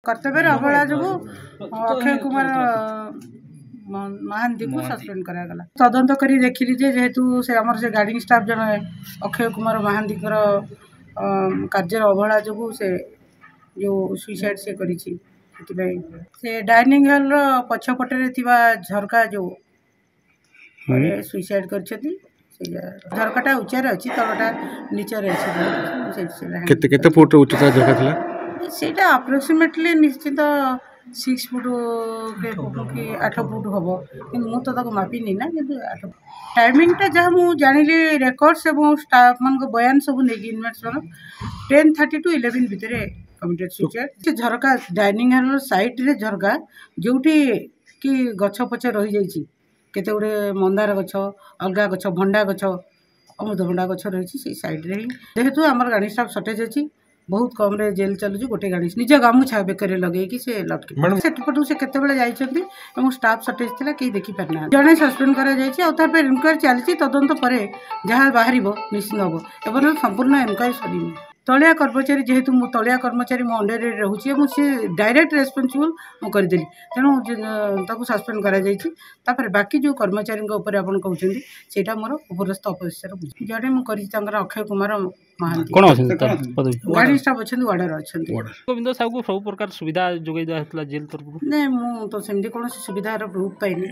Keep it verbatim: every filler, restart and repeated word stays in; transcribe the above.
କର୍ତ୍ତବ୍ୟରେ ଅବହେଳା ଯୋଗୁଁ ଅକ୍ଷୟ କୁମାର ମହାନ୍ତିକୁ ସସ୍ପେଣ୍ଡ କରାଗଲା। ତଦନ୍ତ କରି ଦେଖିଲି ଯେ ଯେହେତୁ ସେ ଆମର ସେ ଗାର୍ଡ଼ିଂ ଷ୍ଟାଫ୍ ଜଣେ ଅକ୍ଷୟ କୁମାର ମହାନ୍ତିଙ୍କର କାର୍ଯ୍ୟର ଅବହେଳା ଯୋଗୁଁ ସେ ଯେଉଁ ସୁଇସାଇଡ଼୍ ସେ କରିଛି, ସେଥିପାଇଁ ସେ ଡାଇନିଂ ହଲ୍ର ପଛପଟରେ ଥିବା ଝରକା ଯେଉଁ ସୁଇସାଇଡ଼୍ କରିଛନ୍ତି, ସେ ଝରକାଟା ଉଚ୍ଚାରେ ଅଛି, ତଳଟା ନିଚରେ ଅଛି। କେତେ କେତେ ଫୁଟ ଉଚ୍ଚତା ଝରକା ଥିଲା ସେଇଟା? ଆପ୍ରୋକ୍ସିମେଟଲି ନିଶ୍ଚିତ ସିକ୍ସ ଫୁଟ କି ଆଠ ଫୁଟ ହେବ, କିନ୍ତୁ ମୁଁ ତ ତାକୁ ମାପିନି ନା। କିନ୍ତୁ ଆଠ ଟାଇମିଂଟା ଯାହା ମୁଁ ଜାଣିଲି ରେକର୍ଡ଼ସ୍ ଏବଂ ଷ୍ଟାଫ୍ମାନଙ୍କ ବୟାନ ସବୁ ନେଇକି, ଇନଭେଷ୍ଟମାନଙ୍କ, ଟେନ୍ ଥାର୍ଟି ଟୁ ଇଲେଭେନ୍ ଭିତରେ କମିଟେଡ଼ ସୁଇସାଇଡ଼୍। ସେ ଝରକା ଡାଇନିଂ ହଲ୍ର ସାଇଡ଼୍ରେ ଝରକା, ଯେଉଁଠି କି ଗଛ ପଛ ରହିଯାଇଛି, କେତେ ଗୁଡ଼ିଏ ମନ୍ଦାର ଗଛ, ଅଲଗା ଗଛ, ଭଣ୍ଡା ଗଛ, ଅମୃତଭଣ୍ଡା ଗଛ ରହିଛି ସେଇ ସାଇଡ଼୍ରେ ହିଁ। ଯେହେତୁ ଆମର ଗାର୍ଡ଼ିଂ ଷ୍ଟାଫ୍ ସର୍ଟେଜ୍ ଅଛି, ବହୁତ କମ୍ରେ ଜେଲ୍ ଚାଲୁଛି, ଗୋଟେ ଗାଡ଼ି ନିଜ ଗାମୁଛା ବେକରେ ଲଗେଇକି ସେ ଲଟକି ସେପଟକୁ ସେ କେତେବେଳେ ଯାଇଛନ୍ତି ଏବଂ ଷ୍ଟାଫ୍ ସର୍ଟେଜ୍ ଥିଲା, କେହି ଦେଖିପାରିନାହାନ୍ତି। ଜଣେ ସସ୍ପେଣ୍ଡ କରାଯାଇଛି ଆଉ ତାପରେ ଏନକ୍ୱାରି ଚାଲିଛି। ତଦନ୍ତ ପରେ ଯାହା ବାହାରିବ ନିଶ୍ଚିତ ହେବ ଏବଂ ସମ୍ପୂର୍ଣ୍ଣ ଏନକ୍ୱାରି ସରିନି। ତଳିଆ କର୍ମଚାରୀ ଯେହେତୁ, ମୁଁ ତଳିଆ କର୍ମଚାରୀ ମୋ ଅଣ୍ଡରରେ ରହୁଛି ଏବଂ ସିଏ ଡାଇରେକ୍ଟ ରେସ୍ପନ୍ସିବୁଲ୍, ମୁଁ କରିଦେଲି, ତେଣୁ ତାକୁ ସସ୍ପେଣ୍ଡ କରାଯାଇଛି। ତାପରେ ବାକି ଯେଉଁ କର୍ମଚାରୀଙ୍କ ଉପରେ ଆପଣ କହୁଛନ୍ତି, ସେଇଟା ମୋର ଉପରସ୍ଥ ଅଫିସର ବୁଝି ଜଣେ ମୁଁ କରିଛି, ତାଙ୍କର ଅକ୍ଷୟ କୁମାର ମହାନ୍ତି କ'ଣ ଅଛନ୍ତି? ଗାର୍ଡ଼ିଂ ଷ୍ଟାଫ୍ ଅଛନ୍ତି, ୱାର୍ଡ଼ର ଅଛନ୍ତି। ଗୋବିନ୍ଦ ସାହୁକୁ ସବୁ ପ୍ରକାର ସୁବିଧା ଯୋଗାଇ ଦିଆହେଉଥିଲା ଜେଲ୍ ତରଫରୁ? ନାଇଁ, ମୁଁ ତ ସେମିତି କୌଣସି ସୁବିଧାର ପ୍ରୁଫ୍ ପାଇନି।